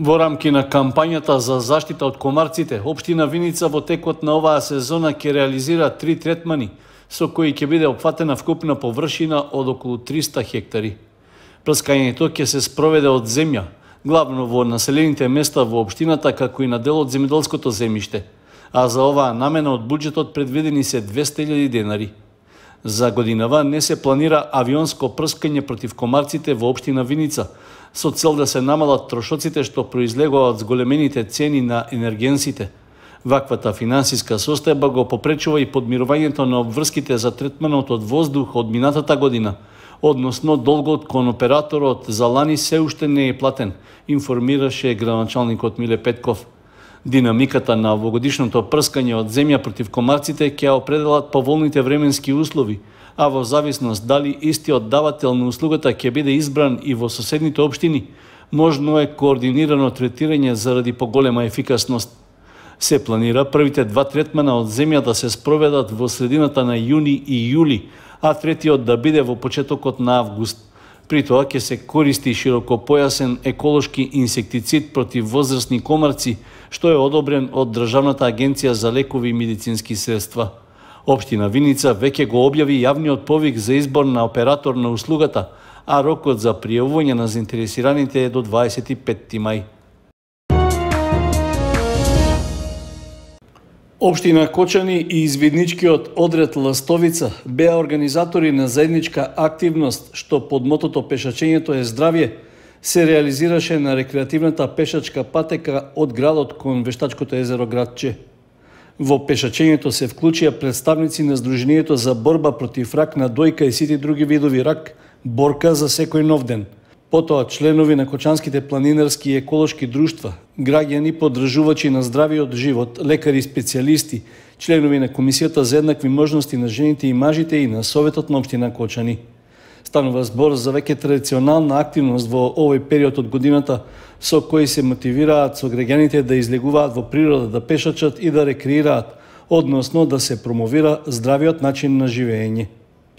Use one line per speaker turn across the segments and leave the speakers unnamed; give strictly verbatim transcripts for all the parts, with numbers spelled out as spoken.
Во рамки на кампањата за заштита од комарците, општина Виница во текот на оваа сезона ќе реализира три третмани, со кои ќе биде опфатена вкупна површина од околу триста хектари. Прскањето ќе се спроведе од земја, главно во населените места во општината, како и на дел од земјоделското земјиште, а за оваа намена од буџетот предвидени се двесте илјади денари. За годинава не се планира авионско прскање против комарците во општина Виница, со цел да се намалат трошоците што произлегуваат од зголемените цени на енергенсите. Ваквата финансиска состојба го попречува и подмирувањето на обврските за третманот од воздух од минатата година, односно долгот кон операторот за лани се уште не е платен, информираше градоначалникот Миле Петков. Динамиката на овогодишното прскање од земја против комарците ќе определат поволните временски услови, а во зависност дали истиот давател на услугата ќе биде избран и во соседните општини, можно е координирано третирање заради поголема ефикасност. Се планира првите два третмана од земја да се спроведат во средината на јуни и јули, а третиот да биде во почетокот на август. При тоа ќе се користи широкопојасен еколошки инсектицид против возрастни комарци, што е одобрен од Државната агенција за лекови и медицински средства. Општина Виница веќе го објави јавниот повик за избор на оператор на услугата, а рокот за пријавување на заинтересираните е до дваесет и петти мај. Општина Кочани и извидничкиот одред Ластовица беа организатори на заедничка активност што под мотото Пешачењето е здравје се реализираше на рекреативната пешачка патека од градот кон Вештачкото езеро Градче. Во пешачењето се вклучија представници на Сдруженијето за борба против рак на дојка и сите други видови рак, борка за секој нов ден. Потоа членови на Кочанските планинарски и еколошки друштва, граѓани поддржувачи на здравиот живот, лекари и специјалисти, членови на Комисијата за еднакви можности на жените и мажите и на Советот на општина Кочани. Станува збор за веќе традиционална активност во овој период од годината, со кои се мотивираат сограѓаните да излегуваат во природа, да пешачат и да рекреираат, односно да се промовира здравиот начин на живење.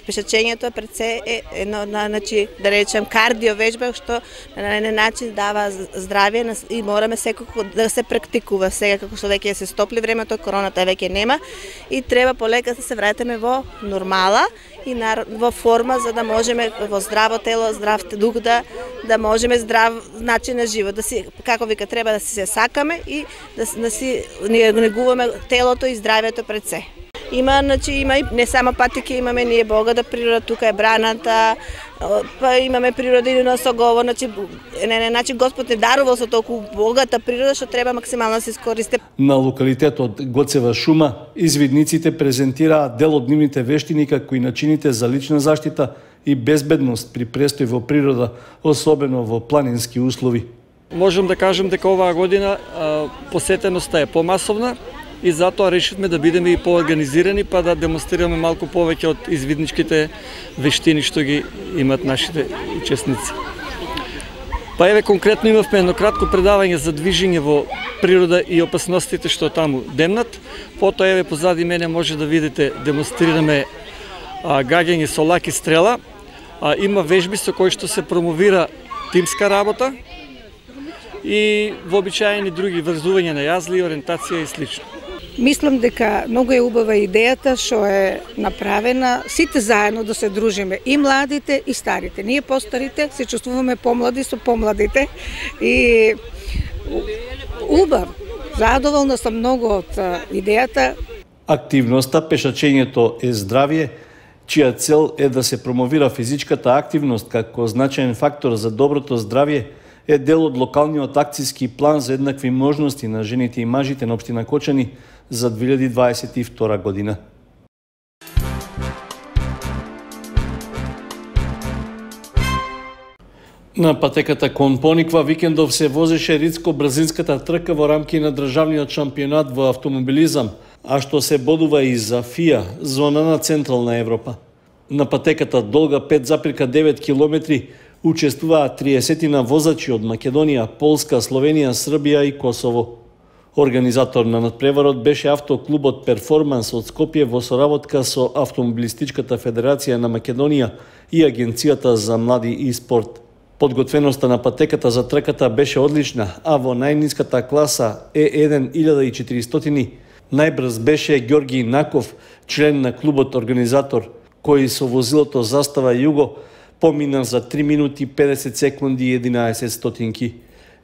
Пешачењето пред се е едно, значи, да речем, кардио вежба, што на еден начин дава здравје и мораме секако да се практикува. Сега како што веќе се стопли времето, короната веќе нема и треба полека да се вратиме во нормала и на, во форма за да можеме во здраво тело, здрав дух да да можеме здрав начин на живот, да си како вика треба да се сакаме и да, да си негуваме телото и здравјето пред се. Има, значи, има и не само патеки, имаме ние богата природа, тука е браната, па имаме природа и на Согово, значи, не, не, значи Господ не дарувал со толку богата природа, што треба максимално да се искористи. На
локалитетот Гоцева шума, извидниците презентираат дел од нивните вештини како и начините за лична заштита и безбедност при престој во природа, особено во планински услови.
Можам да кажем дека оваа година а, посетеноста е помасовна, и затоа решивме да бидеме и поорганизирани, па да демонстрираме малку повеќе од извидничките вештини што ги имат нашите учесници. Па еве конкретно имавме едно кратко предавање за движење во природа и опасностите што таму демнат. Потоа еве позади мене може да видите демонстрираме а, гаѓање со лак и стрела. А, има вежби со кои што се промовира тимска работа и вообичаени други врзување на јазли, ориентација и слично.
Мислам дека многу е убава идејата што е направена, сите заедно да се дружиме, и младите и старите. Ние постарите се чувствуваме помлади со помладите и убав. Задоволна сум многу од идејата.
Активноста Пешачењето е здравје, чија цел е да се промовира физичката активност како значаен фактор за доброто здравје, е дел од локалниот акцијски план за еднакви можности на жените и мажите на општина Кочани за две илјади дваесет и втора година. На патеката кон Пониква викендов се возеше ридско-брзинската трка во рамки на државниот шампионат во автомобилизам, а што се бодува и за ФИА, зона на Централна Европа. На патеката долга пет запирка девет километри учествуваат триесетина возачи од Македонија, Полска, Словенија, Србија и Косово. Организатор на надпреварот беше автоклубот Перформанс од Скопје во соработка со Автомобилистичката федерација на Македонија и Агенцијата за млади и спорт. Подготвеноста на патеката за трката беше одлична, а во најниската класа Е еден илјада и четиристотини најбрз беше Ѓорги Наков, член на клубот организатор, кој со возилото Застава Југо помина за три минути педесет секунди и единаесет стотинки.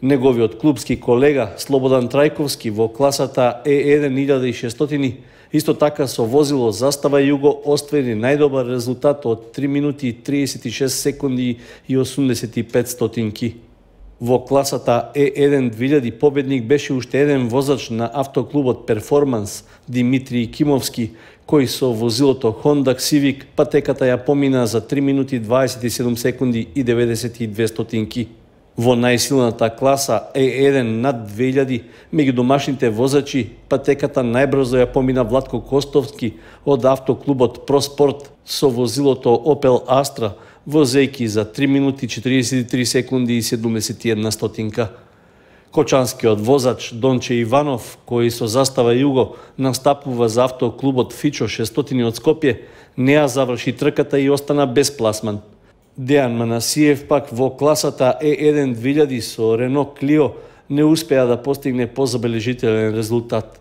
Неговиот клубски колега Слободан Трајковски во класата Е еден илјада и шестстотини исто така со возило Застава Југо оствари најдобар резултат од три минути триесет и шест секунди и осумдесет и пет стотинки. Во класата Е еден две илјади победник беше уште еден возач на автоклубот Перформанс, Димитрий Кимовски, кој со возилото Honda Civic патеката ја помина за три минути дваесет и седум секунди и деветдесет и две стотинки. Во најсилната класа Е еден над две илјади, меѓу домашните возачи, патеката најбрзо ја помина Владко Костовски од автоклубот Проспорт со возилото Opel Astra, возејки за три минути четириесет и три секунди и седумдесет и една стотинка. Кочанскиот возач Донче Иванов, кој со Застава Југо настапува за автоклубот Фичо шестстотини од Скопје, не ја заврши трката и остана без пласман. Дејан Манасиев пак во класата Е еден две илјади со Рено Клио не успеа да постигне позабележителен резултат.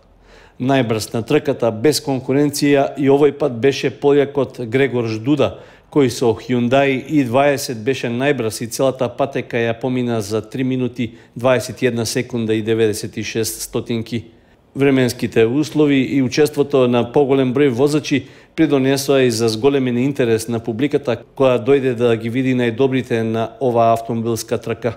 Најбрз на трката без конкуренција и овој пат беше полјакот Грегор Ждуда, кој со Hyundai и дваесет беше најбрз и целата патека ја помина за три минути дваесет и една секунда и деветдесет и шест стотинки. Временските услови и учеството на поголем број возачи придонесоа и за зголемен интерес на публиката која дојде да ги види најдобрите на оваа автомобилска трка.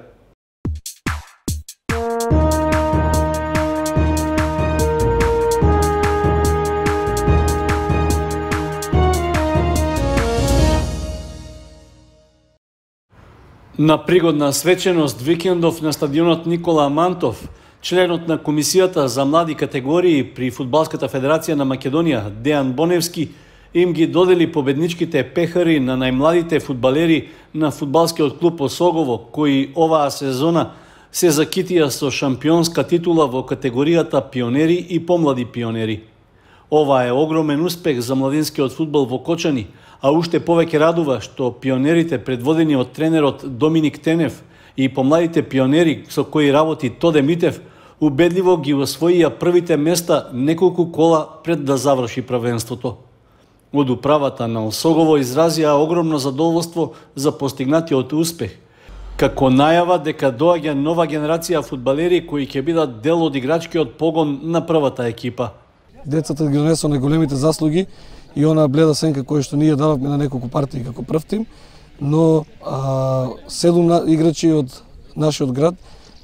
На пригодна свеченост викендов на стадионот Никола Амантов, членот на Комисијата за млади категории при Фудбалската федерација на Македонија, Дејан Боневски, им ги додели победничките пехари на најмладите фудбалери на фудбалскиот клуб Осогово, кои оваа сезона се закитија со шампионска титула во категоријата пионери и помлади пионери. Ова е огромен успех за младинскиот фудбал во Кочани, а уште повеќе радува што пионерите предводени од тренерот Доминик Тенев и помладите пионери со кои работи Тоде Митев убедливо ги освоија првите места неколку кола пред да заврши првенството. Од управата на Осогово изразија огромно задоволство за постигнатиот успех, како најава дека доаѓа нова генерација фудбалери кои ќе бидат дел од играчкиот погон на првата екипа.
Децата ги донесоа најголемите заслуги и она бледа сенка која што ние дадовме на неколку партии како прв тим, но а, седум играчи од нашиот град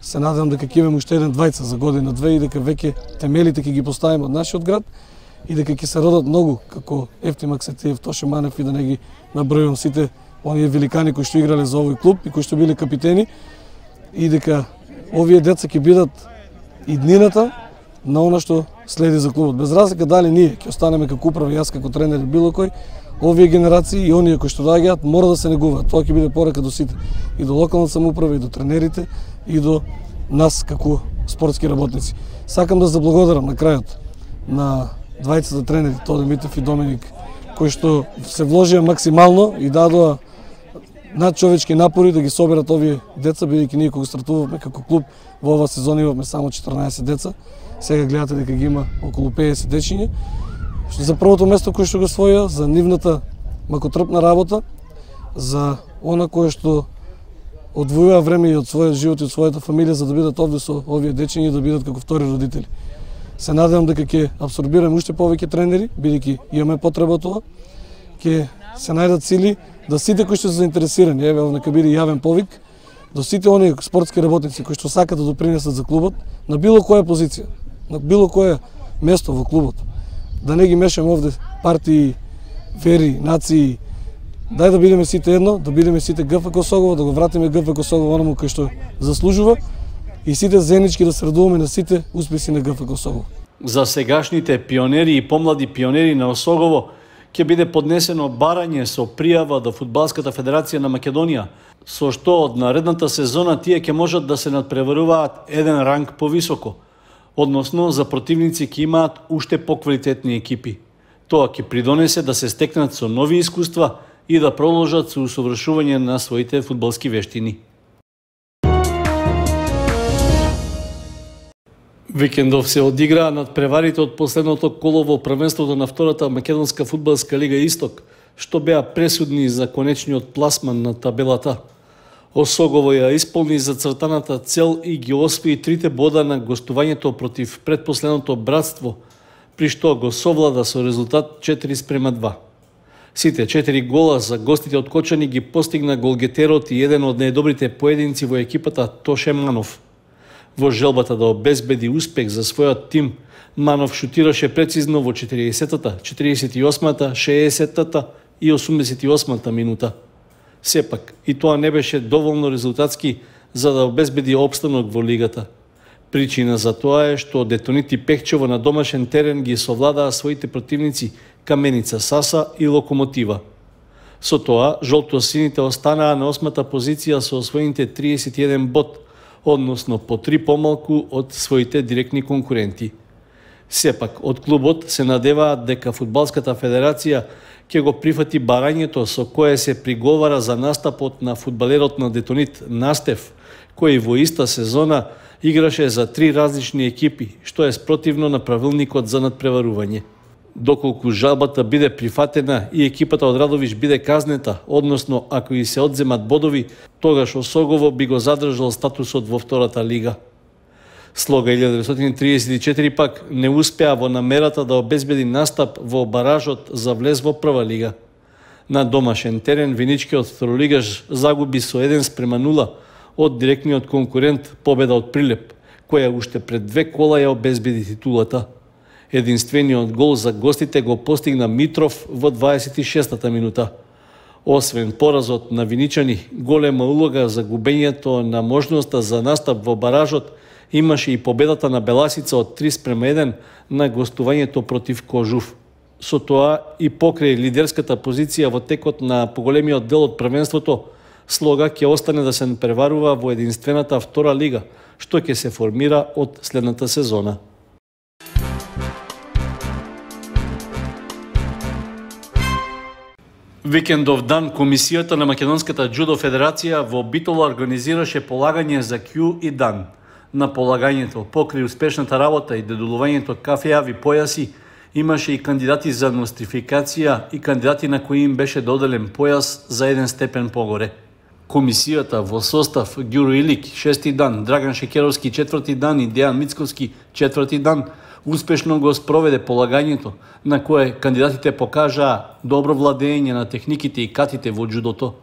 се надевам дека ќе имаме уште еден двајца за година две и дека веќе темелите ќе ги поставиме од нашиот град и дека ќе се родат многу како Ефтим Аксетиев, Тоше Манев и да не ги набројувам сите оние великани кои што играле за овој клуб и кои што биле капитени и дека овие деца ќе бидат иднината на она што следи за клубот. Без разлика дали ние ќе останеме како управа, јас како тренер или било кој, овие генерации и оние кои што доаѓаат мора да се негуваат. Тоа ќе биде порака до сите, и до локалната самоуправа, и до тренерите, и до нас како спортски работници. Сакам да заблагодарам на крајот на двајцата тренери, Тоде Митев и Доминик, кои што се вложија максимално и дадоа надчовечки напори да ги соберат овие деца, бидејќи ние кога стартувавме како клуб во оваа сезона имавме само четрнаесет деца. Сега гледате дека ги има околу педесет дечиња. За првото место кое што го освоја, за нивната макотрпна работа, за она кое што одвојува време и од својот живот и од својата фамилија за да бидат овде со овие дечиња и да бидат како втори родители. Се надевам дека ќе апсорбираме уште повеќе тренери, бидејќи имаме потреба тоа. Ќе се најдат сили да сите кои што се заинтересирани, еве нека биде јавен повик, до сите оние спортски работници кои што сакаат да допринесат за клубот на било која позиција, на било кое место во клубот. Да не ги мешаме овде партии, вери, нации. Дај да бидеме сите едно, да бидеме сите ГФК Осогово, да го вратиме ГФК Осогово оному кој што заслужува и сите заеднички да се радуваме на сите успеси на ГФК Осогово.
За сегашните пионери и помлади пионери на Осогово ќе биде поднесено барање со пријава до Фудбалската федерација на Македонија, со што од наредната сезона тие ќе можат да се надпреваруваат еден ранг повисоко, односно за противници ќе имаат уште поквалитетни екипи. Тоа ќе придонесе да се стекнат со нови искуства и да продолжат со усовршување на своите фудбалски вештини. Викендов се одиграа надпреварите од последното коло во првенството на втората македонска фудбалска лига Исток, што беа пресудни за конечниот пласман на табелата. Осогово ја исполни зацртаната цел и ги освои трите бода на гостувањето против предпоследното Братство, при што го совлада со резултат четири спрема два. Сите четири гола за гостите од Кочани ги постигна голгетерот и еден од најдобрите поединци во екипата Тоше Манов. Во желбата да обезбеди успех за својот тим, Манов шутираше прецизно во четириесеттата, четириесет и осмата, шеесеттата и осумдесет и осмата минута. Сепак, и тоа не беше доволно резултатски за да обезбеди опстанок во лигата. Причина за тоа е што Детонити Пехчево на домашен терен ги совладаа своите противници Каменица Саса и Локомотива. Со тоа, жолто-сините останаа на осмата позиција со освоените триесет и еден бод, односно по три помалку од своите директни конкуренти. Сепак, од клубот се надеваат дека Фудбалската федерација ќе го прифати барањето со кое се приговара за настапот на фудбалерот на Детонит Настев, кој во иста сезона играше за три различни екипи, што е спротивно на правилникот за надпреварување. Доколку жалбата биде прифатена и екипата од Радовиш биде казнета, односно ако и се одземат бодови, тогаш Осогово би го задржал статусот во втората лига. Слога илјада деветстотини триесет и четири пак не успеа во намерата да обезбеди настап во баражот за влез во прва лига. На домашен терен виничкиот второлигаш загуби со еден спрема нула од директниот конкурент победа од Прилеп, која уште пред две кола ја обезбеди титулата. Единствениот гол за гостите го постигна Митров во дваесет и шестата минута. Освен поразот на виничани, голема улога за губењето на можноста за настап во баражот имаше и победата на Беласица од три спрема еден на гостувањето против Кожув. Со тоа и покрај лидерската позиција во текот на поголемиот дел од првенството, Слога ќе остане да се преварува во единствената втора лига, што ќе се формира од следната сезона. Викендов дан Комисијата на Македонската џудо федерација во Битола организираше полагање за кју и дан. На полагањето, покрај успешната работа и додолувањето кафеави појаси, имаше и кандидати за нострификација и кандидати на кои им беше доделен појас за еден степен погоре. Комисијата во состав Ѓуро Илик шести дан, Драган Шекеровски четврти дан и Дејан Мицковски четврти дан успешно го спроведе полагањето, на кое кандидатите покажаа добро владење на техниките и катите во џудото.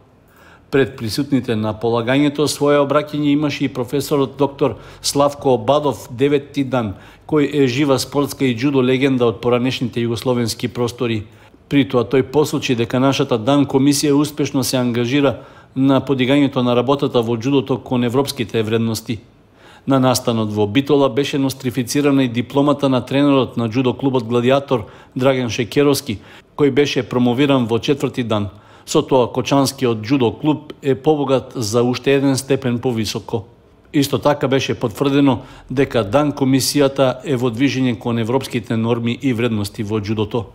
Пред присутните на полагањето своје обраќање имаше и професорот доктор Славко Обадов деветти дан, кој е жива спортска и џудо легенда од поранешните југословенски простори. При тоа тој посочи дека нашата дан комисија успешно се ангажира на подигањето на работата во џудото кон европските вредности. На настанот во Битола беше нострифицирана и дипломата на тренерот на џудо клубот Гладиатор Драган Шекеровски, кој беше промовиран во четврти дан. Со тоа Кочанскиот џудо клуб е побогат за уште еден степен повисоко. Исто така беше потврдено дека дан комисијата е во движење кон европските норми и вредности во џудото.